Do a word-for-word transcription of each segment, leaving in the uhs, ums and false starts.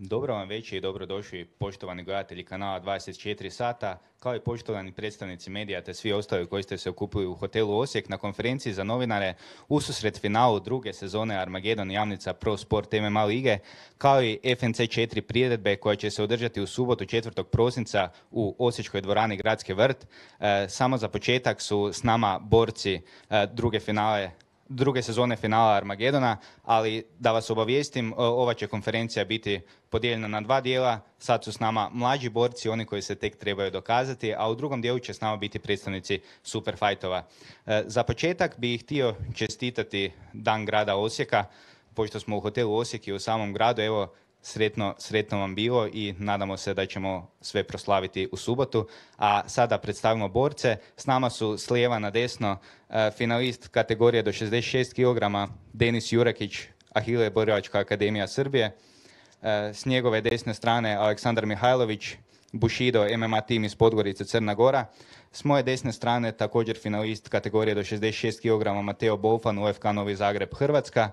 Dobro vam večer i dobrodošli poštovani gledatelji kanala dvadeset četiri sata, kao i poštovani predstavnici medija te svi ostali koji ste se okupili u hotelu Osijek na konferenciji za novinare ususret finalu druge sezone Armagedon Jamnica Pro Sport M M A lige, kao i F N C četiri priredbe koja će se održati u subotu četvrtog prosinca u Osječkoj dvorani Gradski vrt. E, samo za početak su s nama borci e, druge finale druge sezone finala Armagedona, ali da vas obavijestim, ova će konferencija biti podijeljena na dva dijela. Sad su s nama mlađi borci, oni koji se tek trebaju dokazati, a u drugom dijelu će s nama biti predstavnici superfajtova. E, za početak bih htio čestitati Dan grada Osijeka, pošto smo u hotelu Osijek i u samom gradu. Evo, Sretno, sretno vam bilo i nadamo se da ćemo sve proslaviti u subotu. A sada predstavimo borce. S nama su s lijeva na desno e, finalist kategorije do šezdeset šest kilograma Denis Jurakić, Ahile Borilačka akademija Srbije. E, s njegove desne strane Aleksandar Mihajlović, Bushido M M A tim iz Podgorice, Crna Gora. S moje desne strane također finalist kategorije do šezdeset šest kilograma Mateo Bolfan, U F K Novi Zagreb, Hrvatska.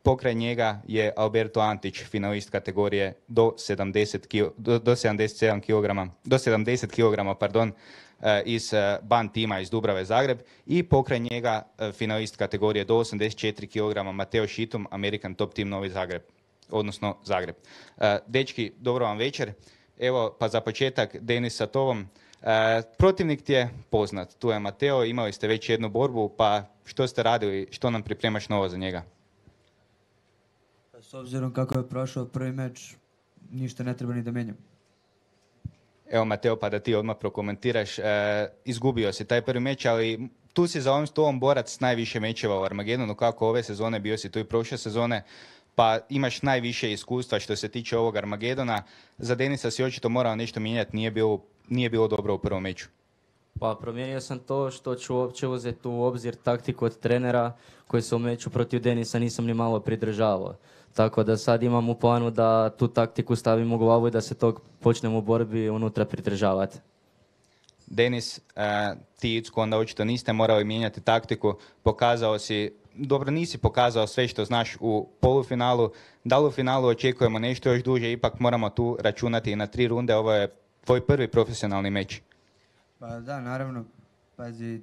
Pokraj njega je Alberto Antić, finalist kategorije do sedamdeset, do, do sedamdeset sedam kilograma, do sedamdeset kilograma, pardon, iz Ban tima iz Dubrave, Zagreb. I pokraj njega finalist kategorije do osamdeset četiri kilograma Mateo Šitum, American Top Team Novi Zagreb, odnosno Zagreb. Dečki, dobro vam večer. Evo, pa za početak, Denis sa tobom. Protivnik ti je poznat, tu je Mateo, imali ste već jednu borbu, pa što ste radili, što nam pripremaš novo za njega? S obzirom kako je prošao prvi meč, ništa ne treba ni da menjam. Evo, Mateo, pa da ti odmah prokomentiraš. E, izgubio si taj prvi meč, ali tu si za ovim stolom borac s najviše mečeva u Armagedonu, kako ove sezone, bio si tu i prošle sezone, pa imaš najviše iskustva što se tiče ovog Armagedona. Za Denisa si očito morao nešto mijenjati, nije bilo, nije bilo dobro u prvom meču. Pa promijenio sam to što ću uopće uzeti u obzir taktiku od trenera koji se u meču protiv Denisa nisam ni malo pridržavao. Tako da sad imam u planu da tu taktiku stavim u glavu i da se tog počnem u borbi unutra pridržavati. Denis, uh, ti Icko onda očito niste morali mijenjati taktiku, pokazao si, dobro nisi pokazao sve što znaš u polufinalu, da li u finalu očekujemo nešto još duže, ipak moramo tu računati i na tri runde, ovo je tvoj prvi profesionalni meč. Pa da, naravno, pazi,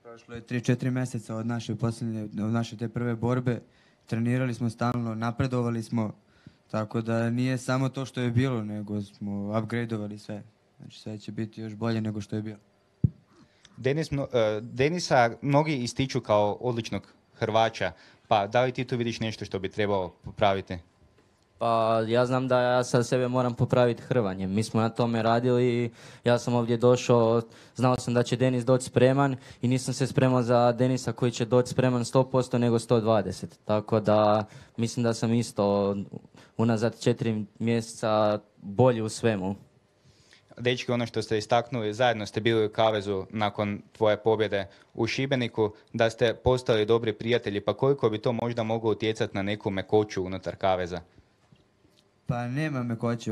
prošlo je tri četiri mjeseca od naše posljednje, od naše te prve borbe, trenirali smo stalno, napredovali smo, tako da nije samo to što je bilo, nego smo upgradeovali sve. Znači sve će biti još bolje nego što je bilo. Denis, uh, Denisa mnogi ističu kao odličnog Hrvača, pa da li ti tu vidiš nešto što bi trebalo popraviti? Pa ja znam da ja sad sebe moram popraviti hrvanjem. Mi smo na tome radili i ja sam ovdje došao, znao sam da će Denis doći spreman i nisam se spremao za Denisa koji će doći spreman sto posto nego sto dvadeset. Tako da mislim da sam isto unazad četiri mjeseca bolji u svemu. Dečki, ono što ste istaknuli, zajedno ste bili u kavezu nakon tvoje pobjede u Šibeniku, da ste postali dobri prijatelji, pa koliko bi to možda moglo utjecati na neku mekoću unutar kaveza? Pa nema mekoće.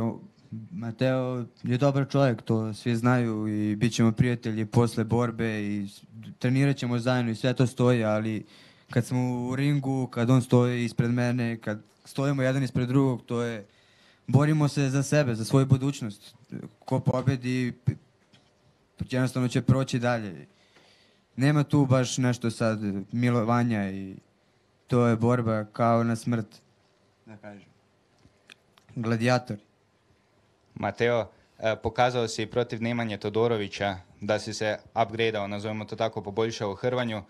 Mateo je dobar čovjek, to svi znaju i bit ćemo prijatelji posle borbe i trenirat ćemo zajedno i sve to stoji, ali kad smo u ringu, kad on stoji ispred mene, kad stojimo jedan ispred drugog, to je, borimo se za sebe, za svoju budućnost. Ko pobedi, jednostavno će proći dalje. Nema tu baš nešto sad milovanja i to je borba kao na smrt, da kažem. Gladijator. Mateo, pokazao si protiv Nemanje Todorovića da si se upgradeao, nazovimo to tako, poboljšao u hrvanju.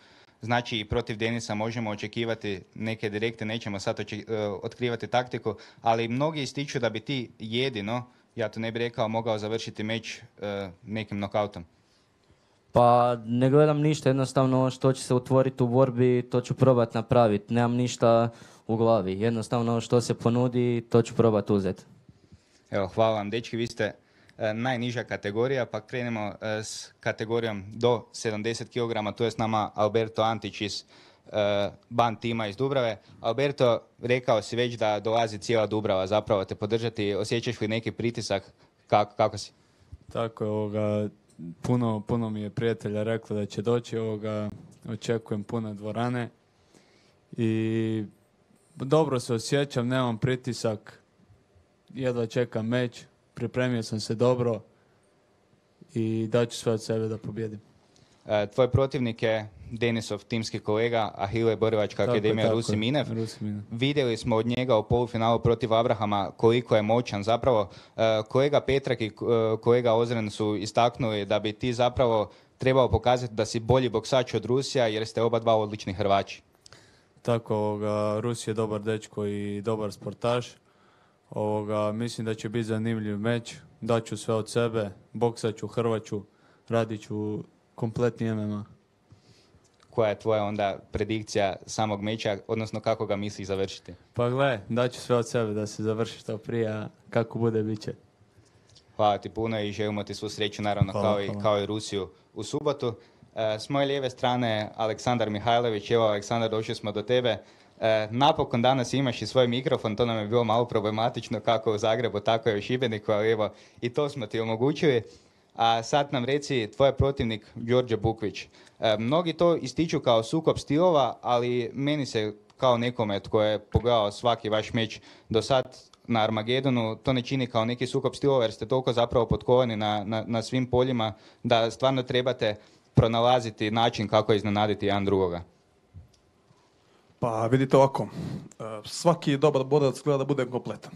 Znači i protiv Denisa možemo očekivati neke direkte, nećemo sad oček- otkrivati taktiku, ali mnogi ističu da bi ti jedino, ja to ne bih rekao, mogao završiti meč uh, nekim nokautom. Pa ne gledam ništa, jednostavno što će se utvoriti u borbi, to ću probati napraviti. Nemam ništa u glavi, jednostavno što se ponudi, to ću probati uzeti. Evo, hvala vam, dečki, vi ste e, najniža kategorija, pa krenemo e, s kategorijom do sedamdeset kilograma, tu je s nama Alberto Antić iz e, Ban tima iz Dubrave. Alberto, rekao si već da dolazi cijela Dubrava zapravo te podržati, osjećaš li neki pritisak, kako, kako si? Tako je, ovoga, puno, puno mi je prijatelja reklo da će doći, ovoga, očekujem pune dvorane i dobro se osjećam, nemam pritisak, jedva čekam meč, pripremio sam se dobro i daću sve od sebe da pobjedim. E, tvoj protivnik je Denisov timski kolega Ahile Borivačka akademija Rusi Minev. Vidjeli smo od njega u polufinalu protiv Abrahama koliko je moćan. Zapravo, e, kolega Petrak i e, kolega Ozren su istaknuli da bi ti zapravo trebao pokazati da si bolji boksač od Rusija jer ste oba dva odlični Hrvači. Tako, ovoga, Rus je dobar dečko i dobar sportaš. Ovoga, mislim da će biti zanimljiv meč. Daću sve od sebe, boksaću, hrvaću, radit ću kompletni M M A. Koja je tvoja onda predikcija samog meča, odnosno kako ga misliš završiti? Pa gle, daću sve od sebe da se završi što prije, a kako bude, bit će. Hvala ti puno i želimo ti svu sreću, naravno, hvala, kao, i, kao i Rusiju u subotu. E, s moje lijeve strane Aleksandar Mihajlović. Evo, Aleksandar, došli smo do tebe. E, napokon danas imaš i svoj mikrofon, to nam je bilo malo problematično kako u Zagrebu, tako i u Šibeniku, ali evo, i to smo ti omogućili. A sad nam reci, tvoj protivnik Đorđe Bukvić. E, mnogi to ističu kao sukob stilova, ali meni se kao nekome tko je pogledao svaki vaš meč do sad na Armagedonu, to ne čini kao neki sukob stilova jer ste toliko zapravo potkovani na, na, na svim poljima da stvarno trebate pronalaziti način kako iznenaditi jedan drugoga. Pa vidite ovako, svaki dobar borac gleda da bude kompletan.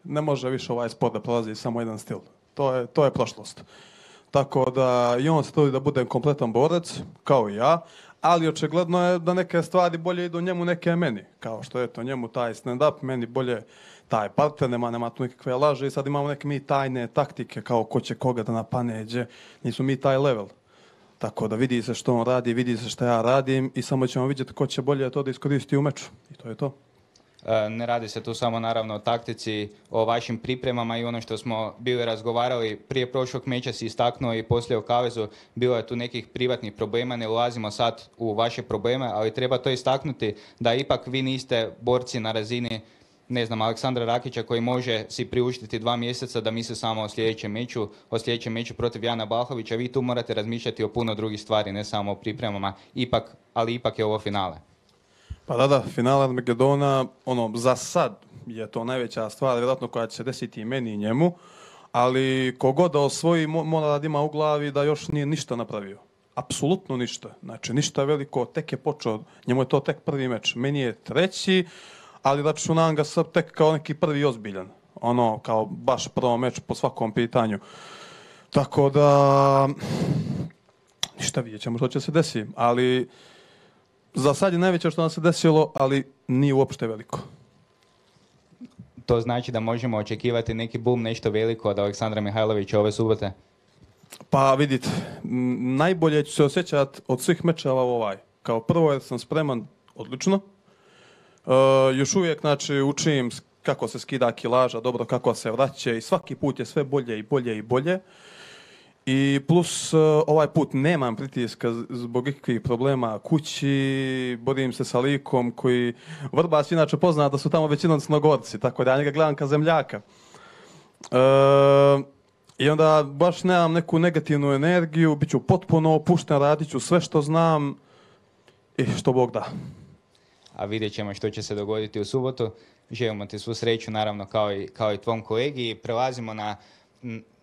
Ne može više ovaj sport da prolazi samo jedan stil. To je, to je prošlost. Tako da i on se trudi da bude kompletan borac, kao i ja, ali očigledno je da neke stvari bolje idu njemu, neke meni. Kao što je to njemu taj stand-up, meni bolje taj partner, nema, nema tu nekakve laže i sad imamo neke mi tajne taktike kao ko će koga da napane, gdje nisu mi taj level. Tako da vidi se što on radi, vidi se što ja radim i samo ćemo vidjeti ko će bolje to da iskoristi u meču. I to je to. Ne radi se tu samo naravno o taktici, o vašim pripremama i ono što smo bili razgovarali prije prošlog meča si istaknuo i poslije u kavezu, bilo je tu nekih privatnih problema, ne ulazimo sad u vaše probleme, ali treba to istaknuti da ipak vi niste borci na razini, ne znam, Aleksandra Rakića koji može si priuštiti dva mjeseca da misli samo o sljedećem meču, o sljedećem meču protiv Jana Balhovića, vi tu morate razmišljati o puno drugih stvari, ne samo o pripremama, ipak, ali ipak je ovo finale. Pa da, da, finale Armagedona, ono, za sad je to najveća stvar, vjerojatno koja će se desiti i meni i njemu, ali kogod da osvoji mora da ima u glavi da još nije ništa napravio. Apsolutno ništa. Znači, ništa veliko, tek je počeo, njemu je to tek prvi meč. Meni je treći, ali računam ga sad tek kao neki prvi ozbiljan. Ono, kao baš prvo meč po svakom pitanju. Tako da, ništa vidjet ćemo što će se desiti, ali za sad je najveće što nam se desilo, ali nije uopšte veliko. To znači da možemo očekivati neki boom, nešto veliko od Aleksandra Mihajlovića ove subote? Pa vidite, najbolje ću se osjećati od svih mečeva ovaj. Kao prvo jer sam spreman odlično. Uh, još uvijek znači, učim kako se skida kilaža, dobro kako se vraća i svaki put je sve bolje i bolje i bolje. I plus ovaj put nemam pritiska zbog ikakvih problema kući, borim se sa likom koji Vrbas inače pozna da su tamo većinom Crnogorci, tako da ja njega gledam kao zemljaka. E, I onda baš nemam neku negativnu energiju, bit ću potpuno opušten, radit ću sve što znam i što Bog da. A vidjet ćemo što će se dogoditi u subotu. Želimo ti svu sreću, naravno, kao i, kao i tvom kolegi. Prelazimo na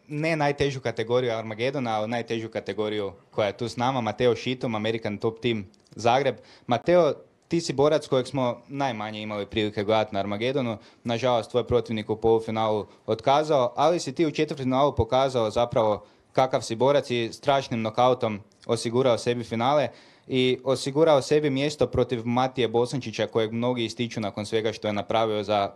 ne najtežu kategoriju Armagedona, ali najtežu kategoriju koja je tu s nama. Mateo Šitum, American Top Team Zagreb. Mateo, ti si borac kojeg smo najmanje imali prilike gledati na Armagedonu. Nažalost, tvoj protivnik u polufinalu otkazao, ali si ti u četvrtfinalu pokazao zapravo kakav si borac i strašnim nokautom osigurao sebi finale i osigurao sebi mjesto protiv Matije Bosančića kojeg mnogi ističu nakon svega što je napravio za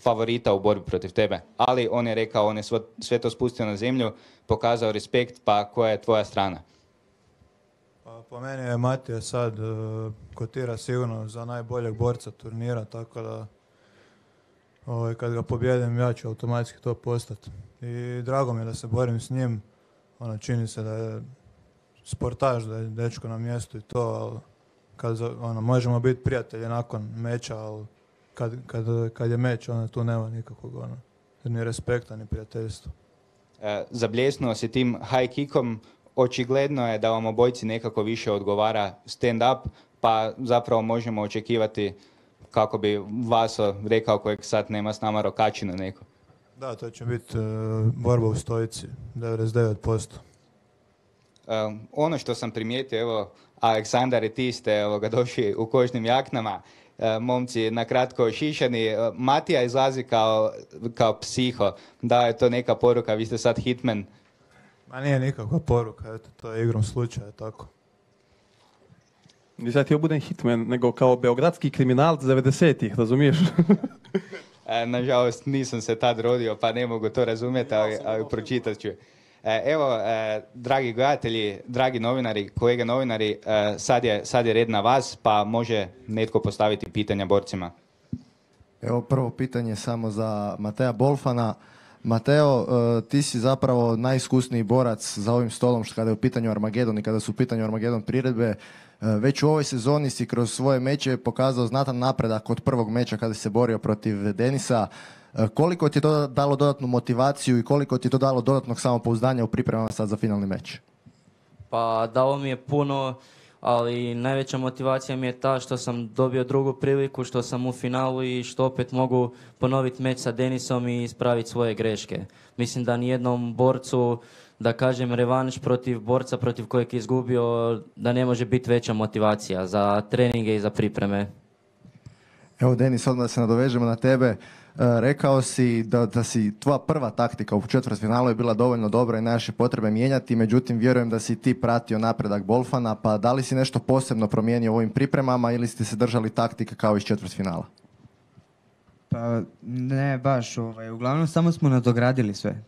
favorita u borbi protiv tebe. Ali on je rekao, on je svo, sve to spustio na zemlju, pokazao respekt, pa koja je tvoja strana? Pa, po meni je Matija sad uh, kotira sigurno za najboljeg borca turnira, tako da ovaj, kad ga pobjedim ja ću automatski to postati. I drago mi je da se borim s njim, ono, čini se da je sportaš, da je dečko na mjestu i to, ali kad, ono, možemo biti prijatelji nakon meča, ali kad, kad, kad je meč, onda tu nema nikakvog ono, ni respekta, ni prijateljstva. E, zabljesnuo si tim high kickom, očigledno je da vam obojci nekako više odgovara stand-up, pa zapravo možemo očekivati, kako bi Vaso rekao, kojeg sad nema s nama, rokačina neko. Da, to će biti e, borba u stojici, devedeset devet posto. Um, ono što sam primijetio, evo, Aleksandar i ti ste ovoga, došli u kožnim jaknama, uh, momci nakratko šišani, uh, Matija izlazi kao, kao psiho, da je to neka poruka, vi ste sad hitman. Ma nije nikakva poruka, eto, to je igrom slučaja, tako. Nisam htio budem hitman, nego kao beogradski kriminalac devedesetih, razumiješ? E, nažalost, nisam se tad rodio, pa ne mogu to razumjeti, ali, ali pročitat ću. E, evo, e, dragi gledatelji, dragi novinari, kolege novinari, e, sad, je, sad je red na vas, pa može netko postaviti pitanja borcima. Evo prvo pitanje samo za Matea Bolfana. Mateo, e, ti si zapravo najiskusniji borac za ovim stolom što kada je u pitanju Armagedon i kada su u pitanju Armagedon priredbe. E, već u ovoj sezoni si kroz svoje meče pokazao znatan napredak od prvog meča kada si se borio protiv Denisa. E, koliko ti je to dalo dodatnu motivaciju i koliko ti je to dalo dodatnog samopouzdanja u pripremama sad za finalni meč? Pa dalo mi je puno, ali najveća motivacija mi je ta što sam dobio drugu priliku, što sam u finalu i što opet mogu ponoviti meč sa Denisom i ispraviti svoje greške. Mislim da nijednom borcu, da kažem revanš protiv borca protiv kojeg je izgubio, da ne može biti veća motivacija za treninge i za pripreme. Evo Denis, odmah da se nadovežemo na tebe. E, rekao si da, da si tvoja prva taktika u četvrtfinalu je bila dovoljno dobra i nemaš je potrebe mijenjati, međutim vjerujem da si ti pratio napredak Bolfana, pa da li si nešto posebno promijenio u ovim pripremama ili ste se držali taktike kao iz četvrtfinala? Pa ne baš, ovaj, uglavnom samo smo nadogradili sve.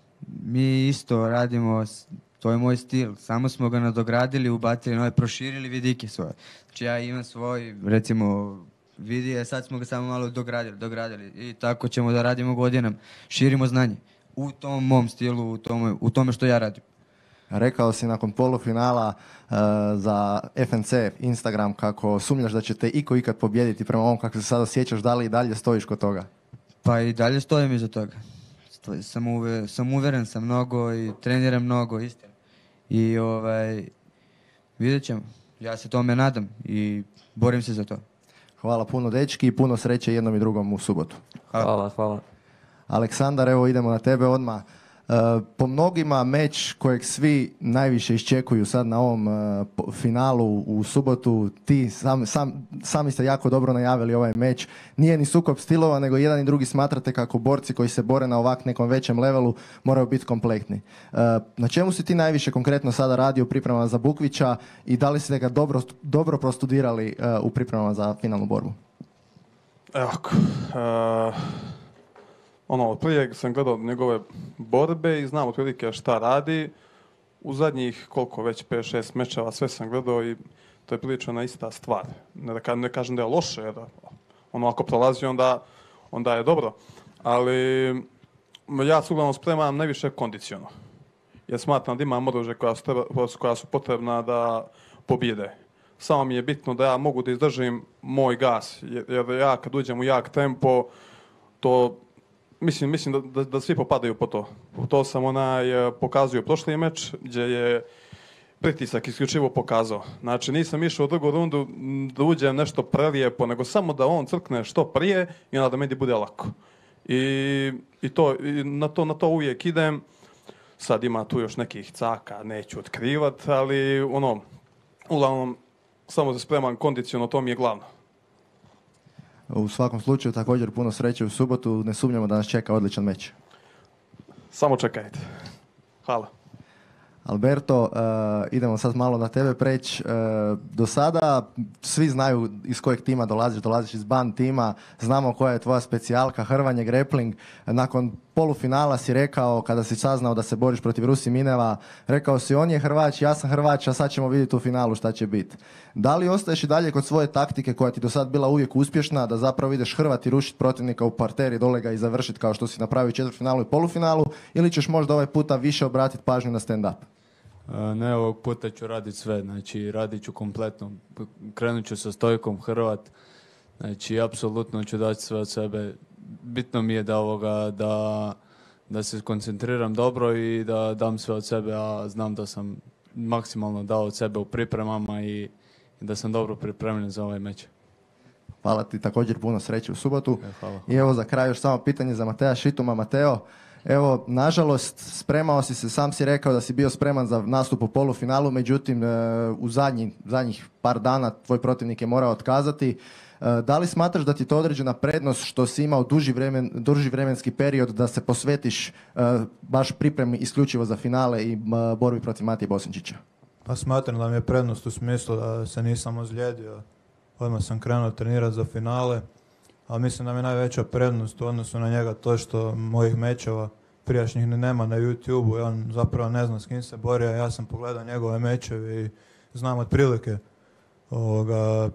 Mi isto radimo, s- to je moj stil, samo smo ga nadogradili, ubacili nove, proširili vidike svoje. Znači ja imam svoj, recimo, vidije, sad smo ga samo malo dogradili, dogradili i tako ćemo da radimo godinama. Širimo znanje u tom mom stilu, u tome, u tome što ja radim. Rekao si nakon polufinala e, za F N C Instagram kako sumnjaš da će te iko ikad pobijediti prema ovom kako se sada osjećaš, da li i dalje stojiš kod toga? Pa i dalje stojim iza toga. Stoj- Sam, uve, sam uveren sam mnogo i treniram mnogo, istina. I ovaj, vidjet ćemo. Ja se tome nadam i borim se za to. Hvala puno dečki i puno sreće jednom i drugom u subotu. Hvala, hvala. Aleksandar, evo idemo na tebe odmah. E, po mnogima meč kojeg svi najviše iščekuju sad na ovom e, po- finalu u subotu, ti sam, sam, sami ste jako dobro najavili ovaj meč. Nije ni sukob stilova, nego jedan i drugi smatrate kako borci koji se bore na ovak nekom većem levelu moraju biti kompletni. E, na čemu si ti najviše konkretno sada radi u pripremama za Bukvića i da li ste ga dobro, dobro prostudirali e, u pripremama za finalnu borbu? Evo, uh, ono, prije sam gledao njegove borbe i znam otprilike šta radi. U zadnjih, koliko već, pet šest mečeva, sve sam gledao i to je prilično na ista stvar. Ne, da ka, ne kažem da je loše, jer ono, ako prolazi, onda, onda je dobro. Ali ja se uglavnom spremam najviše kondiciono. Jer smatram da imam oružje koja su, treba, koja su potrebna da pobjede. Samo mi je bitno da ja mogu da izdržim moj gas, jer, jer ja kad uđem u jak tempo, to mislim, mislim da, da, da svi popadaju po to. To sam onaj eh, pokazuje prošli meč, gdje je pritisak isključivo pokazao. Znači nisam išao u drugu rundu m, da uđem nešto prelijepo, nego samo da on crkne što prije i onda da meni bude lako. I, i, to, i na, to, na to uvijek idem. Sad ima tu još nekih caka, neću otkrivat, ali ono, uglavnom, samo se spreman kondiciono, to mi je glavno. U svakom slučaju također puno sreće u subotu, ne sumnjamo da nas čeka odličan meč. Samo čekajte. Hvala. Alberto, uh, idemo sad malo na tebe preći. Uh, do sada svi znaju iz kojeg tima dolaziš, dolaziš iz band tima, znamo koja je tvoja specijalka, hrvanje, grappling. Nakon polufinala si rekao, kada si saznao da se boriš protiv Rusi Mineva, rekao si on je Hrvač, ja sam Hrvač, a sad ćemo vidjeti u finalu šta će biti. Da li ostaješ i dalje kod svoje taktike koja ti do sad bila uvijek uspješna, da zapravo ideš hrvati, rušiti protivnika u parteri, dole ga i završiti kao što si napravio u četvrtfinalu i polufinalu, ili ćeš možda ovaj puta više obratiti pažnju na stand-up? A, Ne, ovog puta ću raditi sve, znači radit ću kompletno. Krenut ću sa stojkom Hrvat, znači apsolutno ću dati sve od sebe. Bitno mi je da, ovoga, da, da se koncentriram dobro i da dam sve od sebe, a znam da sam maksimalno dao od sebe u pripremama i, i da sam dobro pripremljen za ovaj meč. Hvala ti, također puno sreće u subotu. E, hvala. I evo za kraj još samo pitanje za Matea Šituma. Mateo, Evo, nažalost, spremao si se, sam si rekao da si bio spreman za nastup u polufinalu, međutim, e, u zadnji, zadnjih par dana tvoj protivnik je morao otkazati. E, da li smatraš da ti je to određena prednost što si imao duži, vremen, duži vremenski period da se posvetiš e, baš pripremi isključivo za finale i e, borbi protiv Matije Bosančića? Pa smatram da mi je prednost u smislu da se nisam ozlijedio. Odmah sam krenuo trenirati za finale, ali mislim da mi je najveća prednost u odnosu na njega to što mojih mečeva prijašnjih ni nema na YouTube-u i on zapravo ne zna s kim se bori, a ja sam pogledao njegove mečeve i znam otprilike ovoga,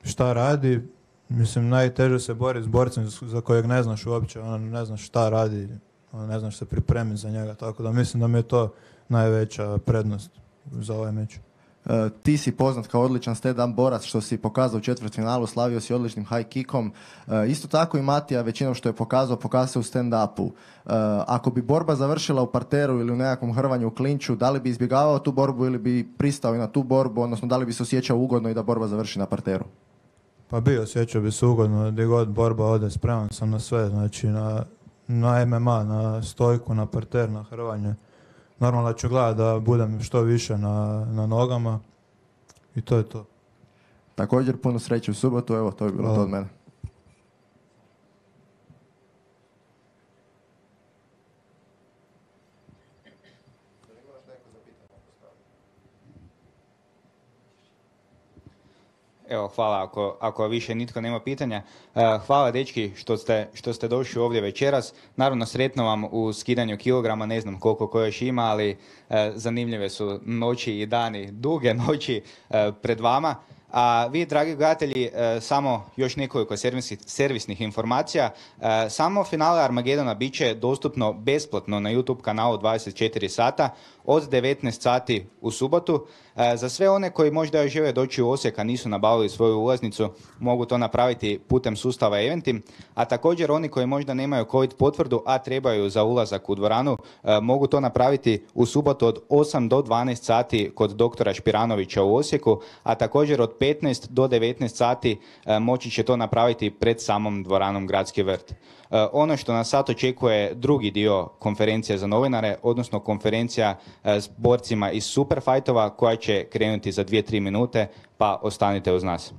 šta radi. Mislim, najteže se bori s borcem za kojeg ne znaš uopće, ono ne znaš šta radi, ono ne znaš se pripremiti za njega, tako da mislim da mi je to najveća prednost za ovaj meč. Uh, ti si poznat kao odličan stand-up borac što si pokazao u četvrtfinalu, slavio si odličnim high kickom. Uh, isto tako i Matija većinom što je pokazao, pokazao u stand-upu. Uh, ako bi borba završila u parteru ili u nekakvom hrvanju u klinču, da li bi izbjegavao tu borbu ili bi pristao i na tu borbu, odnosno da li bi se osjećao ugodno i da borba završi na parteru? Pa bi osjećao bi se ugodno, gdje god borba ode, spreman sam na sve, znači na, na M M A, na stojku, na parter, na hrvanje. Normalno ću gledati da budem što više na, na nogama i to je to. Također puno sreće u subotu, evo to je bilo Hvala. to od mene. Evo, hvala ako, ako više nitko nema pitanja. E, hvala dečki što ste, što ste došli ovdje večeras. Naravno, sretno vam u skidanju kilograma, ne znam koliko ko još ima, ali e, zanimljive su noći i dani, duge noći e, pred vama. A vi, dragi gledatelji, e, samo još nekoliko servisnih, servisnih informacija. E, samo finale Armagedona bit će dostupno besplatno na YouTube kanalu dvadeset četiri sata od devetnaest sati u subotu. E, za sve one koji možda još žele doći u Osijek, a nisu nabavili svoju ulaznicu, mogu to napraviti putem sustava Eventim. A također oni koji možda nemaju COVID potvrdu, a trebaju za ulazak u dvoranu, e, mogu to napraviti u subotu od osam do dvanaest sati kod doktora Špiranovića u Osijeku, a također od petnaest do devetnaest sati e, moći će to napraviti pred samom dvoranom Gradski vrt. E, ono što nas sad očekuje drugi dio konferencije za novinare, odnosno konferencija e, s borcima iz Superfightova koja će krenuti za dvije tri minute, pa ostanite uz nas.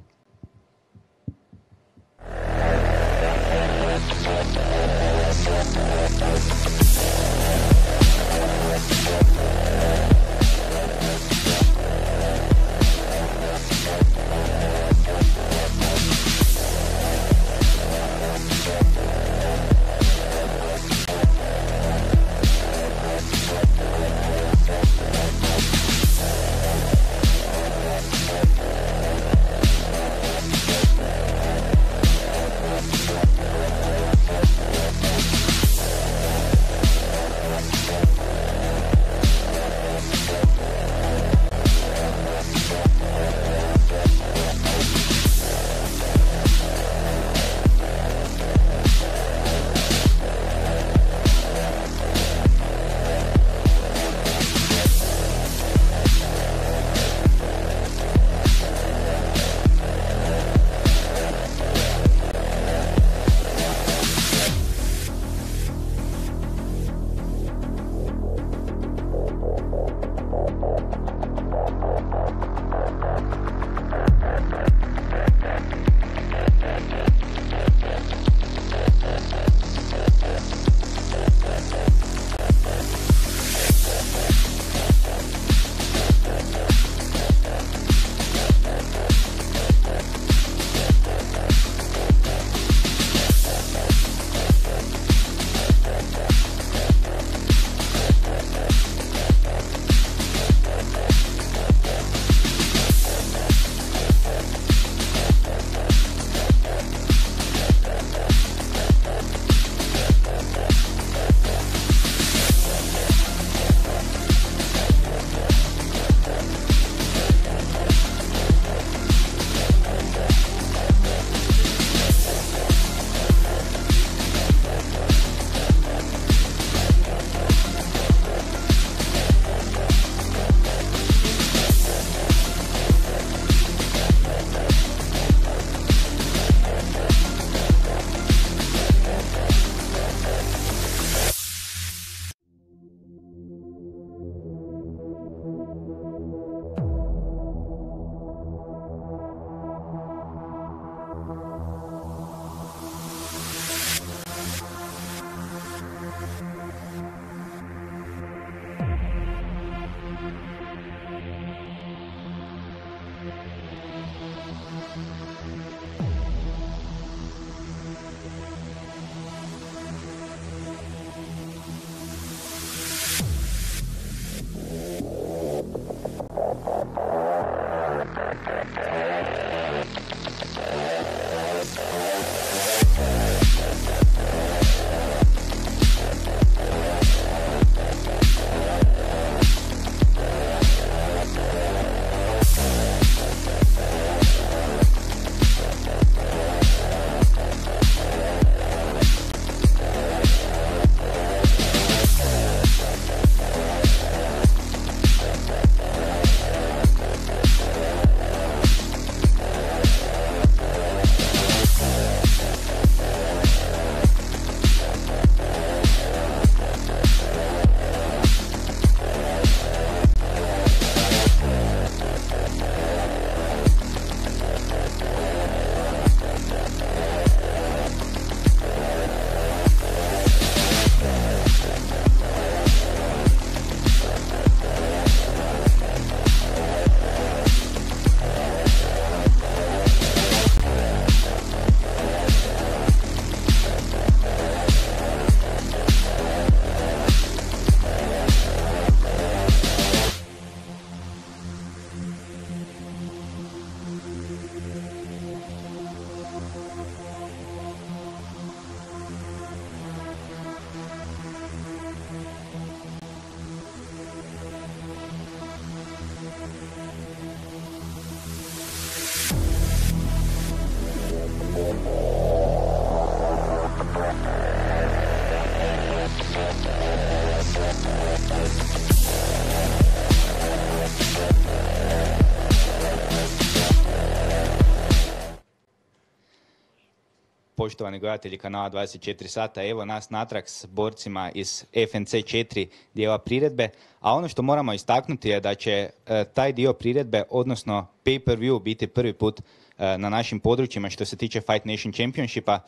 poštovani gledatelji kanala dvadeset četiri sata, evo nas natrag s borcima iz F N C četiri dijela priredbe, a ono što moramo istaknuti je da će e, taj dio priredbe, odnosno pay-per-view, biti prvi put e, na našim područjima što se tiče Fight Nation Championshipa.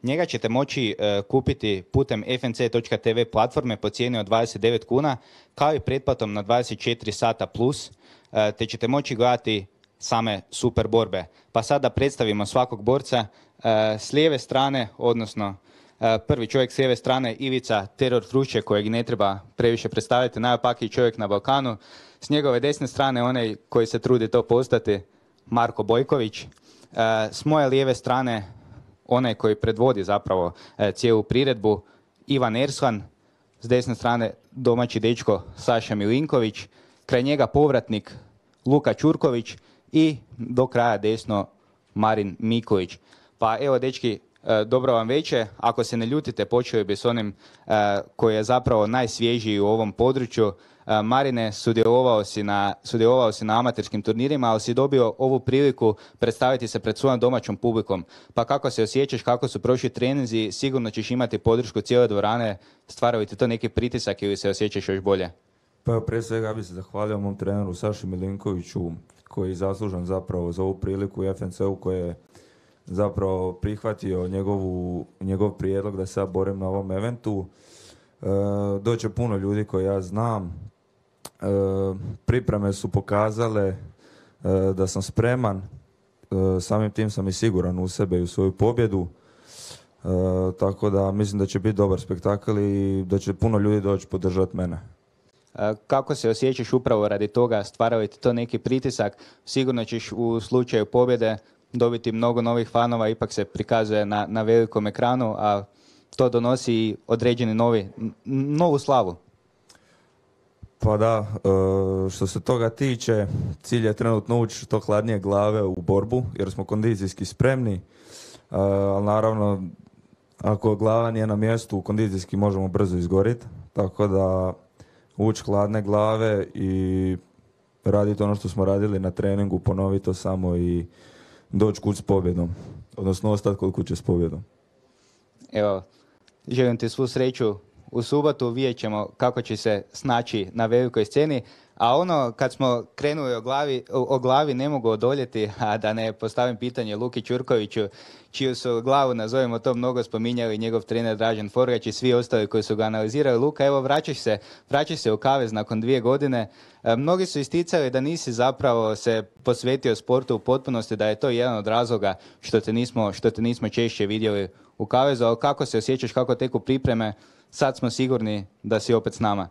Njega ćete moći e, kupiti putem f n c točka t v platforme po cijeni od dvadeset devet kuna, kao i pretplatom na dvadeset četiri sata plus, e, te ćete moći gledati same super borbe. Pa sad da predstavimo svakog borca. E, s lijeve strane, odnosno e, prvi čovjek s lijeve strane, Ivica Teror Frušće, kojeg ne treba previše predstaviti, najopakiji čovjek na Balkanu. S njegove desne strane, onaj koji se trudi to postati, Marko Bojković. E, s moje lijeve strane, onaj koji predvodi zapravo e, cijelu priredbu, Ivan Erslan. S desne strane, domaći dečko Saša Milinković. Kraj njega povratnik Luka Ćurković i do kraja desno Marin Mikulić. Pa evo, dečki, e, dobro vam veče. Ako se ne ljutite, počeo bi s onim e, koji je zapravo najsvježiji u ovom području. E, Marine, sudjelovao si, na, sudjelovao si na amaterskim turnirima, ali si dobio ovu priliku predstaviti se pred svojom domaćom publikom. Pa kako se osjećaš, kako su prošli treninzi, sigurno ćeš imati podršku cijele dvorane. Stvaraju ti to neki pritisak ili se osjećaš još bolje? Pa evo, prije svega ja bih se zahvalio mom treneru Saši Milinkoviću, koji je zaslužan zapravo za ovu priliku u F N C-u, koji je zapravo prihvatio njegovu, njegov prijedlog da se ja borim na ovom eventu. E, doće puno ljudi koje ja znam. E, pripreme su pokazale e, da sam spreman. E, samim tim sam i siguran u sebe i u svoju pobjedu. E, tako da mislim da će biti dobar spektakl i da će puno ljudi doći podržati mene. Kako se osjećaš upravo radi toga? Stvaraju ti to neki pritisak? Sigurno ćeš u slučaju pobjede dobiti mnogo novih fanova, ipak se prikazuje na, na velikom ekranu, a to donosi i određeni novi, novu slavu. Pa da, što se toga tiče, cilj je trenutno ući što hladnije glave u borbu, jer smo kondicijski spremni, ali naravno, ako glava nije na mjestu, kondicijski možemo brzo izgoriti, tako da ući hladne glave i raditi ono što smo radili na treningu, ponoviti to samo i doći kuć s pobjedom, odnosno ostati kod kuće s pobjedom. Evo, želim ti svu sreću u subotu, vidjet ćemo kako će se snaći na velikoj sceni, a ono kad smo krenuli o glavi, o, o glavi ne mogu odoljeti, a da ne postavim pitanje Luki Ćurkoviću, čiju su glavu, nazovimo to, mnogo spominjali njegov trener Dražen Forgać i svi ostali koji su ga analizirali. Luka, evo vraćaš se, vraćaš se u kavez nakon dvije godine. E, mnogi su isticali da nisi zapravo se posvetio sportu u potpunosti, da je to jedan od razloga što te nismo, što te nismo češće vidjeli u kavezu, ali kako se osjećaš, kako teku pripreme? Sad smo sigurni da si opet s nama.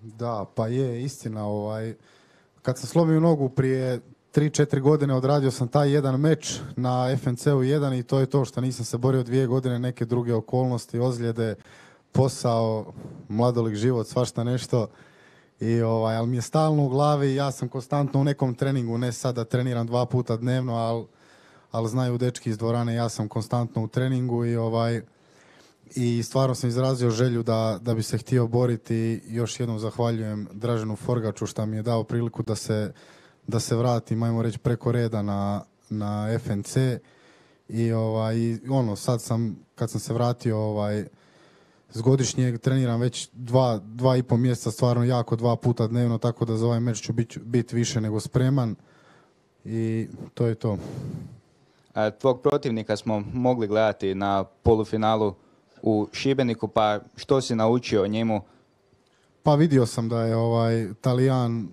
Da, pa je istina. Ovaj, kad sam slomio nogu prije tri četiri godine, odradio sam taj jedan meč na F N C-u jedan i to je to što nisam se borio dvije godine, neke druge okolnosti, ozljede, posao, mladolik život, svašta nešto. I, ovaj, ali mi je stalno u glavi, ja sam konstantno u nekom treningu, ne sad da treniram dva puta dnevno, ali, ali znaju dečki iz dvorane, ja sam konstantno u treningu i ovaj... I stvarno sam izrazio želju da, da bi se htio boriti. Još jednom zahvaljujem Draženu Forgaču što mi je dao priliku da se, da se vratim, ajmo reći, preko reda na, na F N C. I ovaj, ono, sad sam, kad sam se vratio ovaj, s godišnjeg, treniram već dva, dva i pol mjeseca, stvarno jako, dva puta dnevno, tako da za ovaj meč ću biti bit više nego spreman. I to je to. Tvog protivnika smo mogli gledati na polufinalu u Šibeniku, pa što si naučio o njemu? Pa vidio sam da je ovaj Talijan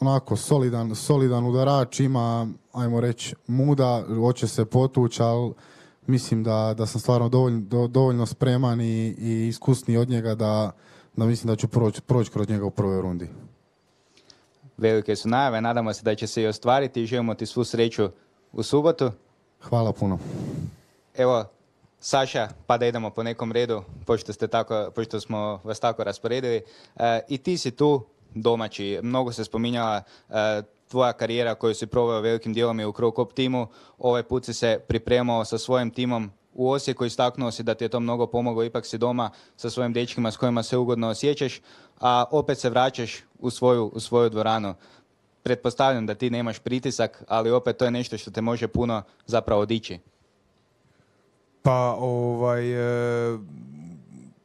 onako solidan, solidan udarač, ima, ajmo reći, muda, hoće se potući, ali mislim da, da sam stvarno dovoljno, do, dovoljno spreman i, i iskusniji od njega da, da mislim da ću proći proć kroz njega u prvoj rundi. Velike su najave, nadamo se da će se i ostvariti i želimo ti svu sreću u subotu. Hvala puno. Evo, Saša, pa da idemo po nekom redu, pošto, ste tako, pošto smo vas tako rasporedili. E, I ti si tu domaći. Mnogo se spominjala e, tvoja karijera koju si proveo velikim dijelom i u Crow Cop timu. Ovaj put si se pripremao sa svojim timom u Osijeku, istaknuo si da ti je to mnogo pomoglo, ipak si doma sa svojim dečkima s kojima se ugodno osjećaš, a opet se vraćaš u svoju, u svoju dvoranu. Pretpostavljam da ti nemaš pritisak, ali opet to je nešto što te može puno zapravo dići. Pa ovaj, e,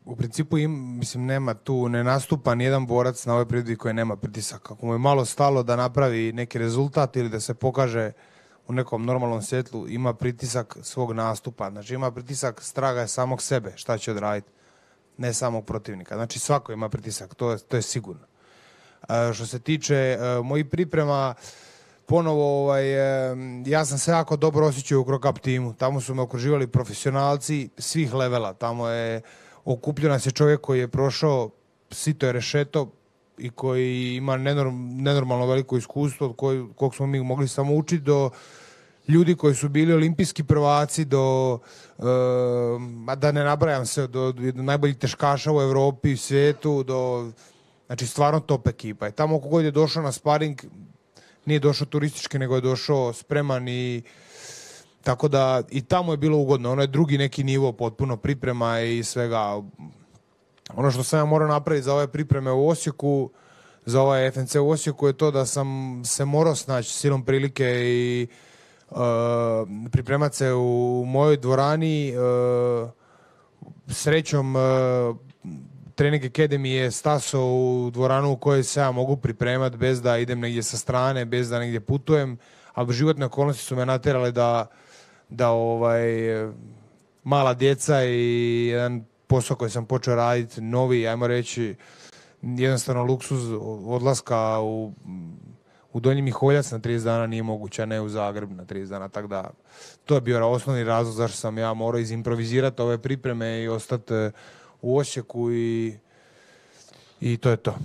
u principu im, mislim, nema tu, ne nastupa nijedan borac na ovoj priredbi koji nema pritisak. Ako mu je malo stalo da napravi neki rezultat ili da se pokaže u nekom normalnom svjetlu, ima pritisak svog nastupa. Znači ima pritisak straga samog sebe, šta će odraditi, ne samog protivnika. Znači svako ima pritisak, to je, to je sigurno. E, što se tiče e, mojih priprema, ponovo, ovaj, e, ja sam se jako dobro osjećao u Krokap timu. Tamo su me okruživali profesionalci svih levela. Tamo je okupljio nas je čovjek koji je prošao sito i rešeto i koji ima nenorm, nenormalno veliko iskustvo od koj, kog smo mi mogli samo učiti, do ljudi koji su bili olimpijski prvaci, do, e, da ne nabrajam se, do, do najboljih teškaša u Europi, svijetu, do, znači stvarno top ekipa. I tamo kogod je došao na sparing, nije došao turistički, nego je došao spreman i tako da i tamo je bilo ugodno. Ono je drugi neki nivo, potpuno priprema i svega. Ono što sam ja morao napraviti za ove pripreme u Osijeku, za ovaj F N C u Osijeku je to da sam se morao snaći silom prilike i uh, pripremat se u mojoj dvorani. Uh, srećom uh, Trening Academy je stasao u dvoranu u kojoj se ja mogu pripremati bez da idem negdje sa strane, bez da negdje putujem, ali životne okolnosti su me natjerale da, da ovaj, mala djeca i jedan posao koji sam počeo raditi, novi, ajmo reći, jednostavno luksuz odlaska u, u Donji Miholjac na trideset dana nije moguće, a ne u Zagreb na trideset dana, tako da to je bio osnovni razlog zašto sam ja morao izimprovizirati ove pripreme i ostati u Osijeku i, i to je to.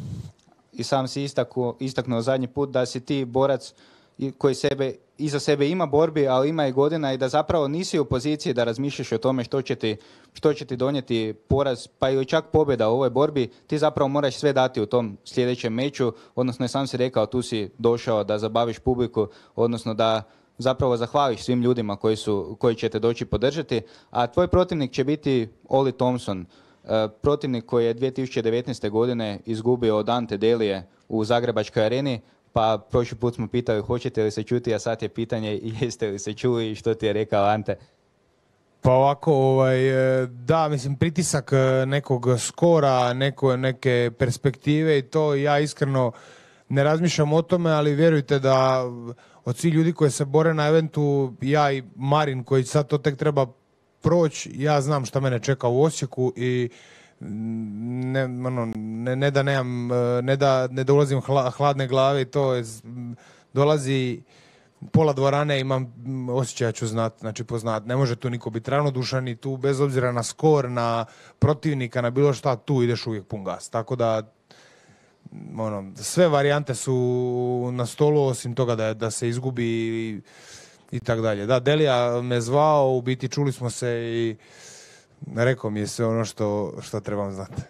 I sam si istaknuo, istaknuo zadnji put da si ti borac koji sebe, iza sebe ima borbi, ali ima i godina i da zapravo nisi u poziciji da razmišljaš o tome što će ti, što će ti donijeti poraz, pa ili čak pobjeda u ovoj borbi. Ti zapravo moraš sve dati u tom sljedećem meču, odnosno sam si rekao, tu si došao da zabaviš publiku, odnosno da zapravo zahvališ svim ljudima koji, su, koji će te doći podržati, a tvoj protivnik će biti Oli Thompson, protivnik koji je dvije tisuće devetnaeste. godine izgubio od Ante Delije u Zagrebačkoj areni, pa prošli put smo pitali hoćete li se čuti, a sad je pitanje jeste li se čuli i što ti je rekao Ante? Pa ovako, ovaj, da, mislim, pritisak nekog skora, neko, neke perspektive i to, ja iskreno ne razmišljam o tome, ali vjerujte da od svih ljudi koji se bore na eventu, ja i Marin koji sad to tek treba proći, ja znam šta mene čeka u Osijeku i ne, ono, ne, ne da nemam, ne da ne dolazim hla, hladne glave i to je, dolazi pola dvorane, imam osjećaj ću znat, znači poznat, ne može tu niko biti ravnodušan i tu bez obzira na skor, na protivnika, na bilo šta, tu ideš uvijek pun gas, tako da ono, sve varijante su na stolu osim toga da, da se izgubi i, i tako dalje. Da, Delija me zvao, u biti čuli smo se i rekao mi je sve ono što, što trebam znati.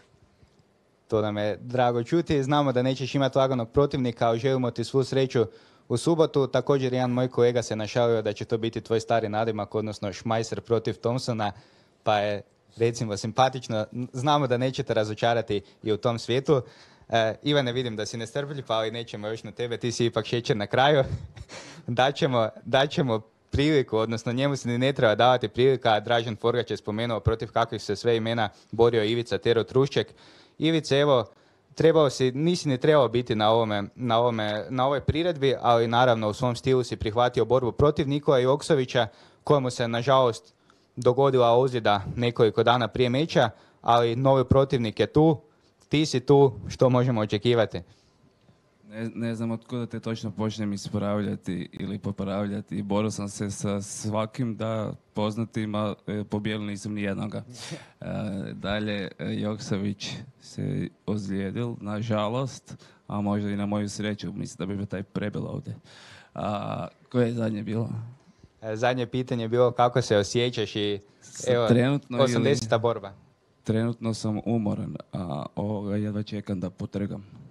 To nam je drago čuti. Znamo da nećeš imati laganog protivnika, ali želimo ti svu sreću u subotu. Također jedan moj kolega se našalio da će to biti tvoj stari nadimak, odnosno Šmajser protiv Thompsona, pa je recimo simpatično. Znamo da nećete razočarati i u tom svijetu. E, Ivane, vidim da si nestrpljiv, ali nećemo još na tebe, ti si ipak šećer na kraju. daćemo, daćemo priliku, odnosno njemu se ni ne treba davati prilika. Dražen Forgać je spomenuo protiv kakvih se sve imena borio Ivica Tero Trušček. Ivice, evo, trebao si, nisi ni trebao biti na, ovome, na, ovome, na ovoj priredbi, ali naravno u svom stilu si prihvatio borbu protiv Nikola Joksovića, kojemu se nažalost dogodila ozljeda nekoliko dana prije meča, ali novi protivnik je tu, ti si tu, što možemo očekivati? Ne, ne znam od kuda te točno počnem ispravljati ili popravljati. Borio sam se sa svakim da poznatim, a pobijedili nisam ni jednoga. E, dalje, Joksović se ozlijedil, nažalost, a možda i na moju sreću. Mislim da bi bio taj prebel ovdje. A, koje je zadnje bilo? E, zadnje pitanje je bilo kako se osjećaš i evo, trenutno osamdeseta borba. Trenutno sam umoran, a ovoga jedva čekam da potrgam.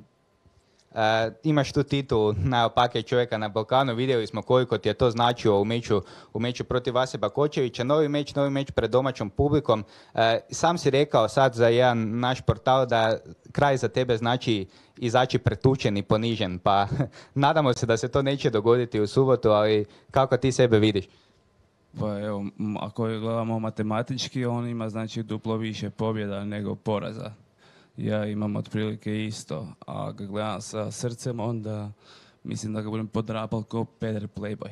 Uh, imaš tu titulu najopakijeg čovjeka na Balkanu, vidjeli smo koliko ti je to značilo u meču, u meču protiv Vase Bakočevića, novi meč, novi meč pred domaćom publikom. Uh, sam si rekao sad za jedan naš portal da kraj za tebe znači izaći pretučen i ponižen, pa nadamo se da se to neće dogoditi u subotu, ali kako ti sebe vidiš? Pa evo, m, ako je gledamo matematički, on ima znači duplo više pobjeda nego poraza. Ja imam otprilike isto, a kad gledam sa srcem, onda mislim da ga budem podrapal ko peder playboy.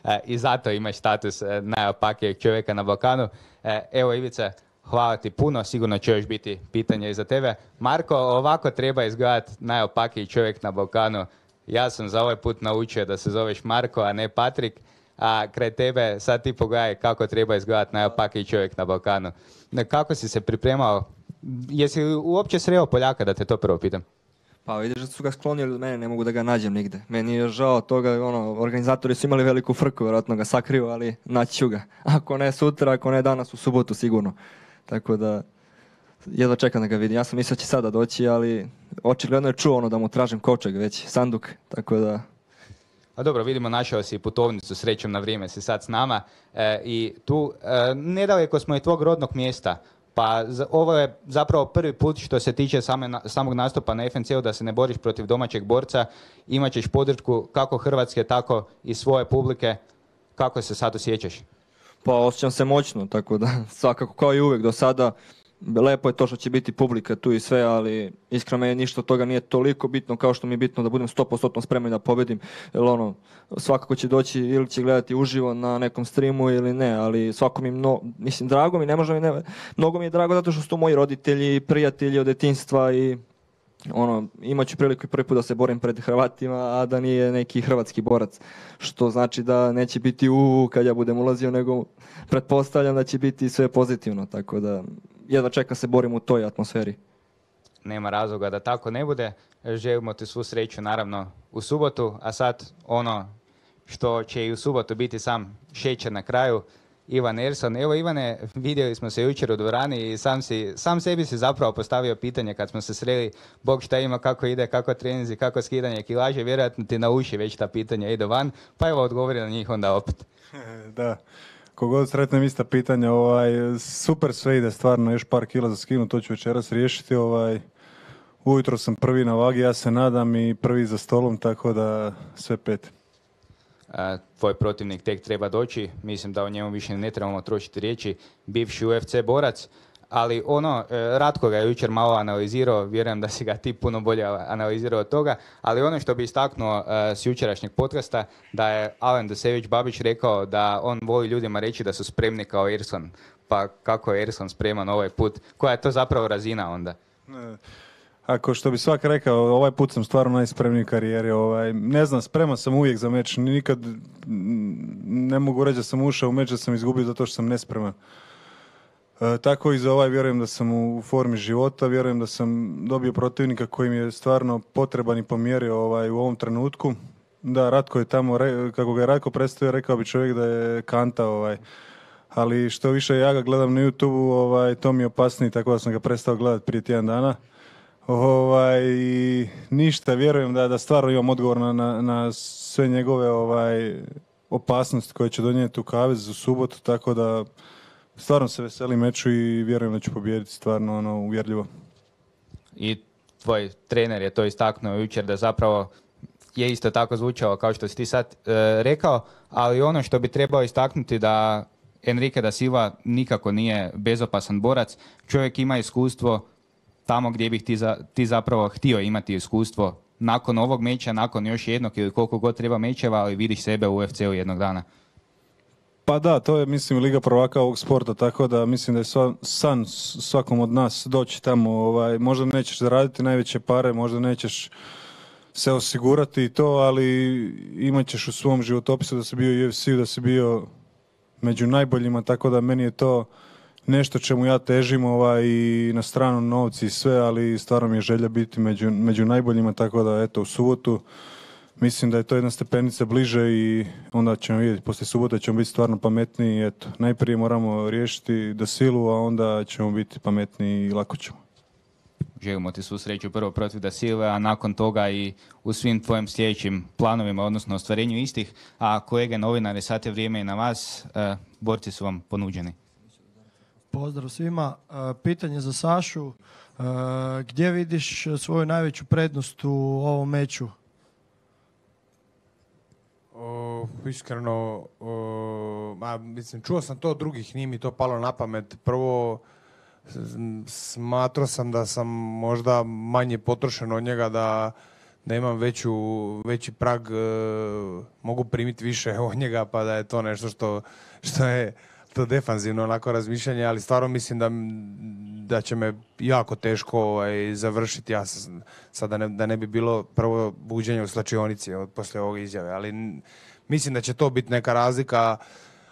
E, I zato imaš status e, najopakijeg čovjeka na Balkanu. E, evo Ivica, hvala ti puno, sigurno će još biti pitanje i za tebe. Marko, ovako treba izgledati najopakiji čovjek na Balkanu. Ja sam za ovaj put naučio da se zoveš Marko, a ne Patrik. A kraj tebe sad ti pogledaj kako treba izgledati najopakiji čovjek na Balkanu. Ne, kako si se pripremao? Jesi uopće sreo Poljaka, da te to prvo pitam? Pa vidiš da su ga sklonili od mene, ne mogu da ga nađem nigde. Meni je žao toga, ono, organizatori su imali veliku frku, vjerojatno ga sakriju, ali naći ću ga. Ako ne sutra, ako ne danas, u subotu sigurno. Tako da, jedva čekam da ga vidim. Ja sam mislio da će sada doći, ali očigledno je čuo ono da mu tražim kovčeg već, sanduk, tako da... A dobro, vidimo, našao si putovnicu, srećom na vrijeme si sad s nama. E, I tu, e, nedaleko smo i tvog rodnog mjesta. Pa za, ovo je zapravo prvi put što se tiče same, na, samog nastupa na F N C-u da se ne boriš protiv domaćeg borca. Imaćeš podršku kako Hrvatske, tako i svoje publike. Kako se sad osjećaš? Pa osjećam se moćno, tako da svakako kao i uvijek do sada. Lepo je to što će biti publika tu i sve, ali iskreno meni ništa od toga nije toliko bitno kao što mi je bitno da budem sto posto spreman da pobedim. Jer ono, svakako će doći ili će gledati uživo na nekom streamu ili ne, ali svako mi, mno, mislim, drago mi, ne može mi, ne, mnogo mi je drago zato što su to moji roditelji, prijatelji od djetinjstva i ono, imat ću priliku i prvi put da se borim pred Hrvatima, a da nije neki hrvatski borac, što znači da neće biti u kad ja budem ulazio, nego pretpostavljam da će biti sve pozitivno, tako da jedva čeka se borim u toj atmosferi. Nema razloga da tako ne bude. Želimo ti svu sreću naravno u subotu, a sad ono što će i u subotu biti sam šećer na kraju, Ivan Erson. Evo Ivane, vidjeli smo se jučer u dvorani i sam, si, sam sebi si zapravo postavio pitanje kad smo se sreli, Bog šta ima, kako ide, kako treninzi, kako skidanje kilaže, vjerojatno ti na uši već ta pitanja ide van, pa evo odgovori na njih onda opet. Da, kogod sretnem ista pitanja, ovaj, super sve ide stvarno, još par kila za skinu, to ću večeras riješiti, ovaj, ujutro sam prvi na vagi, ja se nadam, i prvi za stolom, tako da sve pet. A, tvoj protivnik tek treba doći, mislim da o njemu više ne trebamo trošiti riječi, bivši U F C borac, ali ono, Ratko ga je jučer malo analizirao, vjerujem da si ga ti puno bolje analizirao od toga, ali ono što bi istaknuo uh, s jučerašnjeg podcasta, da je Alen Dusević-Babić rekao da on voli ljudima reći da su spremni kao Erson, pa kako je Erson spreman ovaj put, koja je to zapravo razina onda? Ne. Ako što bi svak rekao, ovaj put sam stvarno najspremniji u karijeri. Ovaj, ne znam, spreman sam uvijek za meč. Nikad ne mogu reći da sam ušao u meč da sam izgubio zato što sam nespreman. E, tako i za ovaj vjerujem da sam u formi života, vjerujem da sam dobio protivnika koji mi je stvarno potreban i pomjerio ovaj, u ovom trenutku. Da, Ratko je tamo, kako ga je Ratko predstavio, rekao bi čovjek da je kanta. Ovaj. Ali što više ja ga gledam na YouTube-u, ovaj, to mi je opasniji, tako da sam ga prestao gledati prije tjedan dana. Ovaj, ništa, vjerujem da, da stvarno imam odgovor na, na, na sve njegove ovaj, opasnosti koje će donijeti u kavez u subotu, tako da stvarno se veselim meču i vjerujem da ću pobijediti stvarno ono, uvjerljivo. I tvoj trener je to istaknuo jučer da zapravo je isto tako zvučao kao što si ti sad e, rekao, ali ono što bi trebao istaknuti da Enrique da Silva nikako nije bezopasan borac, čovjek ima iskustvo tamo gdje bih ti, za, ti zapravo htio imati iskustvo nakon ovog meča, nakon još jednog ili koliko god treba mečeva, ali vidiš sebe u U F C-u jednog dana. Pa da, to je mislim Liga prvaka ovog sporta, tako da mislim da je sva, san svakom od nas doći tamo. Ovaj, možda nećeš zaraditi najveće pare, možda nećeš se osigurati i to, ali imat ćeš u svom životopisu da si bio u U F C-u, da si bio među najboljima, tako da meni je to nešto čemu ja težim, ovaj, i na stranu novci i sve, ali stvarno mi je želja biti među, među najboljima, tako da eto u subotu mislim da je to jedna stepenica bliže i onda ćemo vidjeti, poslije subote ćemo biti stvarno pametniji i eto, najprije moramo riješiti Da Silu, a onda ćemo biti pametniji i lako ćemo. Želimo ti svu sreću prvo protiv Da Silve, a nakon toga i u svim tvojim sljedećim planovima, odnosno ostvarenju istih, a kolege novinari, sad je vrijeme i na vas, e, borci su vam ponuđeni. Pozdrav svima. Pitanje za Sašu. Gdje vidiš svoju najveću prednost u ovom meču? O, iskreno, uh, ma, mislim, čuo sam to od drugih, nije mi to palo na pamet. Prvo, s- smatrao sam da sam možda manje potrošen od njega, da, da imam veću, veći prag, uh, mogu primiti više od njega, pa da je to nešto što, što je to defanzivno onako razmišljanje, ali stvarno mislim da, da će me jako teško ovaj, završiti. Ja sam, sad da ne, da ne bi bilo prvo buđenje u slačionici od poslije ovog izjave, ali n- mislim da će to biti neka razlika,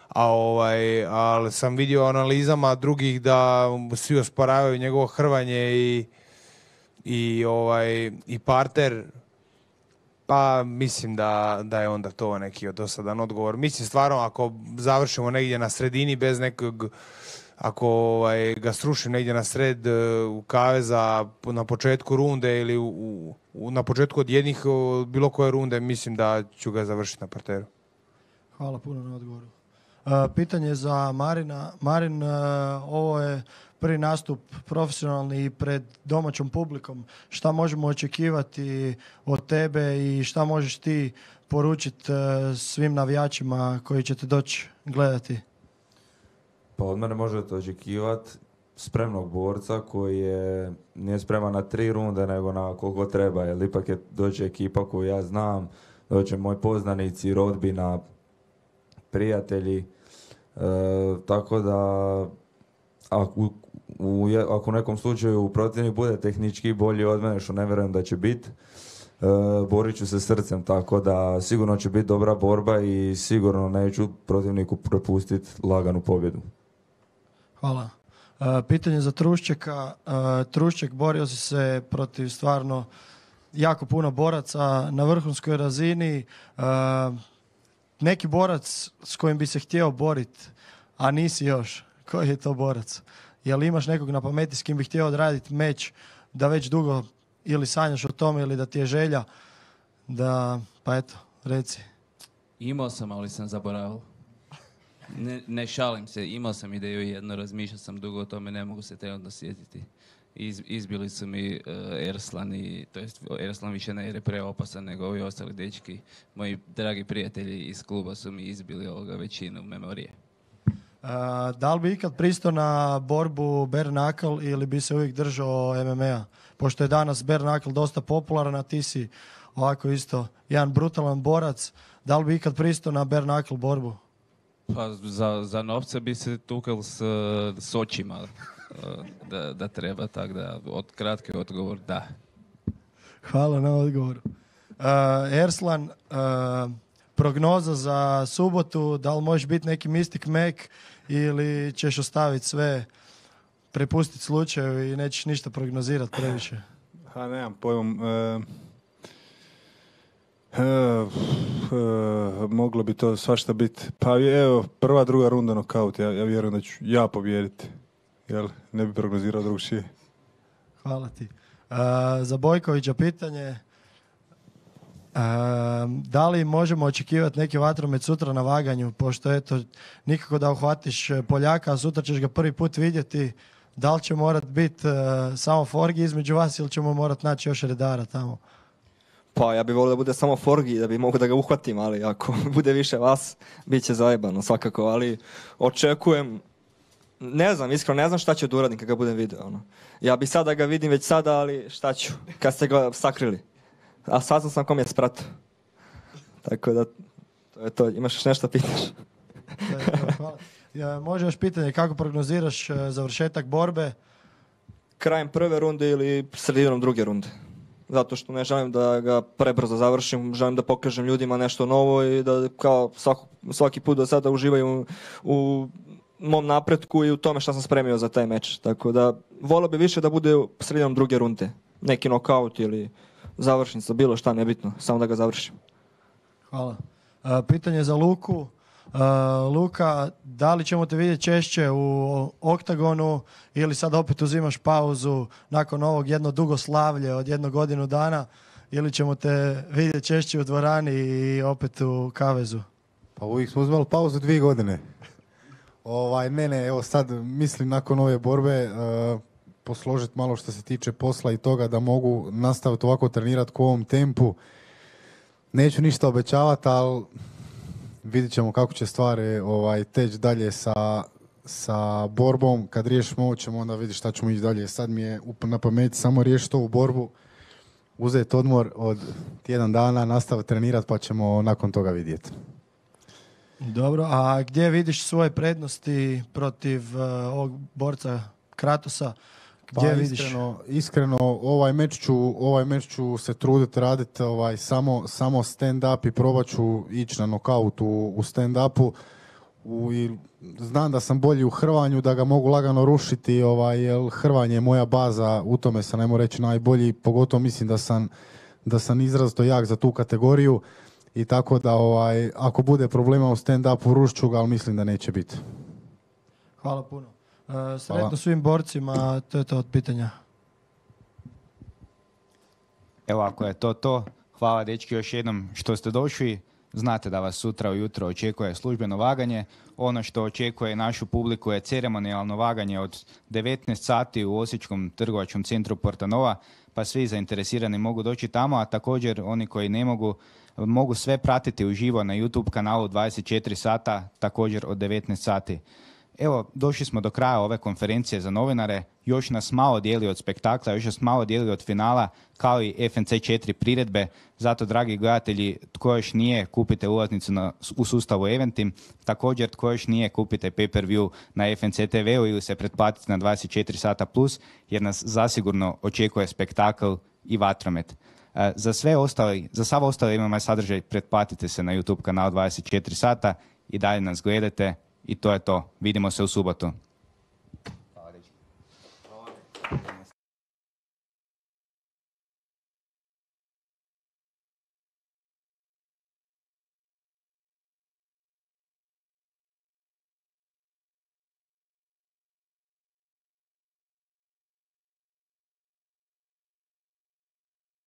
a ovaj, ali sam vidio u analizama drugih da svi osporavaju njegovo hrvanje i, i, ovaj, i parter, pa mislim da, da je onda to neki dosadan odgovor. Mislim stvarno ako završimo negdje na sredini bez nekog, ako ovaj, ga srušim negdje na sred e, u kaveza na početku runde ili u, u, na početku od jednih o, bilo koje runde, mislim da ću ga završiti na parteru. Hvala puno na odgovoru. Uh, pitanje za Marina. Marin, uh, ovo je prvi nastup profesionalni i pred domaćom publikom. Šta možemo očekivati od tebe i šta možeš ti poručiti uh, svim navijačima koji će te doći gledati? Pa od mene možete očekivati spremnog borca koji je, nije spreman na tri runde nego na koliko treba, jer ipak je dođe ekipa koju ja znam, doće moji poznanici, rodbina, prijatelji, e, tako da ako u, je- ako u nekom slučaju protivnik bude tehnički bolji od mene, što ne vjerujem da će biti, e, borit ću se srcem, tako da sigurno će biti dobra borba i sigurno neću protivniku prepustiti laganu pobjedu. Hvala. Uh, pitanje za Truščeka. Uh, Trušček, borio si se protiv stvarno jako puno boraca na vrhunskoj razini. Uh, neki borac s kojim bi se htio boriti, a nisi još. Koji je to borac? Jel imaš nekog na pameti s kim bi htio odraditi meč da već dugo ili sanjaš o tome ili da ti je želja da, pa eto, reci. Imao sam, ali sam zaboravio. Ne, ne šalim se, imao sam ideju jedno, razmišljao sam dugo o tome, ne mogu se trenutno sjetiti. Iz, izbili su mi uh, Erslan i, to jest Erslan više ne jer je preopasan nego ovi ostali dečki. Moji dragi prijatelji iz kluba su mi izbili ovoga većinu memorije. Uh, da li bi ikad pristao na borbu bare knuckle ili bi se uvijek držao M M A? Pošto je danas bare knuckle dosta popularan, a ti si ovako isto jedan brutalan borac, da li bi ikad pristao na bare knuckle borbu? Pa za, za novce bi se tukal s, s očima uh, da, da treba, tako da od kratki odgovor da. Hvala na odgovoru. Uh, Erslan, uh, prognoza za subotu, da li možeš biti neki Mystic Mac ili ćeš ostaviti sve, prepustiti slučaju i nećeš ništa prognozirati previše? Ha, nemam pojmom. E, e, e, moglo bi to svašta biti. Pa evo, prva, druga runda nokaut. Ja, ja vjerujem da ću ja pobijediti. Jel? Ne bi prognozirao drugšije. Hvala ti. Uh, za Bojkovića pitanje. Uh, da li možemo očekivati neki vatromet sutra na vaganju, pošto eto, nikako da uhvatiš Poljaka, a sutra ćeš ga prvi put vidjeti. Da li će morat biti uh, samo Forgi između vas ili ćemo morat naći još redara tamo? Pa ja bih volio da bude samo Forgi, da bi mogu da ga uhvatim, ali ako bude više vas, bit će zajebano svakako, ali očekujem, ne znam, iskreno ne znam šta ću da uradim kad ga budem vidio. Ono. Ja bi sad da ga vidim već sada, ali šta ću, kad ste ga sakrili. A saznam sam kom je spratio. Tako da, to je to. Imaš još nešto pitaš? Da, da, hvala. Ja, može još pitanje, kako prognoziraš uh, završetak borbe? Krajem prve runde ili sredinom druge runde. Zato što ne želim da ga prebrzo završim, želim da pokažem ljudima nešto novo i da kao svako, svaki put do sada uživaju u, u mom napretku i u tome što sam spremio za taj meč. Tako da volio bi više da bude sredinom druge runde. Neki nokaut ili završnica, bilo šta, nebitno, samo da ga završim. Hvala. Uh, pitanje za Luku. Uh, Luka, da li ćemo te vidjeti češće u oktagonu ili sad opet uzimaš pauzu nakon ovog jedno dugo slavlje od jednu godinu dana ili ćemo te vidjeti češće u dvorani i opet u kavezu? Pa uvijek smo uzmali pauzu dvije godine. Ovaj, ne, ne, evo sad mislim nakon ove borbe uh, posložiti malo što se tiče posla i toga da mogu nastaviti ovako trenirati u ovom tempu. Neću ništa obećavati, ali vidit ćemo kako će stvari ovaj, teći dalje sa, sa borbom. Kad riješimo ovo ćemo onda vidjeti šta ćemo ići dalje. Sad mi je up- na pameti samo riješiti ovu borbu, uzeti odmor od tjedan dana, nastaviti trenirati pa ćemo nakon toga vidjeti. Dobro, a gdje vidiš svoje prednosti protiv uh, ovog borca Kratosa? Gdje Pa vidiš? iskreno, iskreno ovaj meč ću, ovaj meč ću se truditi raditi ovaj, samo, samo stand-up i probat ću ići na nokaut u, u stand-upu. U, i znam da sam bolji u hrvanju, da ga mogu lagano rušiti, ovaj, jer hrvanje je moja baza, u tome sam, ajmo reći, najbolji, pogotovo mislim da sam, da sam izrazito jak za tu kategoriju i tako da ovaj, ako bude problema u stand-upu rušit ću ga, ali mislim da neće biti. Hvala puno. Uh, sretno Hvala. svim borcima, to je to od pitanja. Evo, ako je to to, hvala dečki još jednom što ste došli. Znate da vas sutra ujutro očekuje službeno vaganje. Ono što očekuje našu publiku je ceremonijalno vaganje od devetnaest sati u Osječkom trgovačkom centru Portanova, pa svi zainteresirani mogu doći tamo, a također oni koji ne mogu, mogu sve pratiti uživo na YouTube kanalu dvadeset četiri sata, također od devetnaest sati. Evo, došli smo do kraja ove konferencije za novinare. Još nas malo dijeli od spektakla, još nas malo dijeli od finala, kao i F N C četiri priredbe. Zato, dragi gledatelji, tko još nije, kupite ulaznicu na, u sustavu Eventim. Također, tko još nije, kupite pay-per-view na F N C T V-u ili se pretplatite na dvadeset četiri sata plus, jer nas zasigurno očekuje spektakl i vatromet. E, za sve ostali, za sav ostali imamo sadržaj, pretplatite se na YouTube kanal dvadeset četiri sata i dalje nas gledate. I to je to. Vidimo se u subotu. Hvala.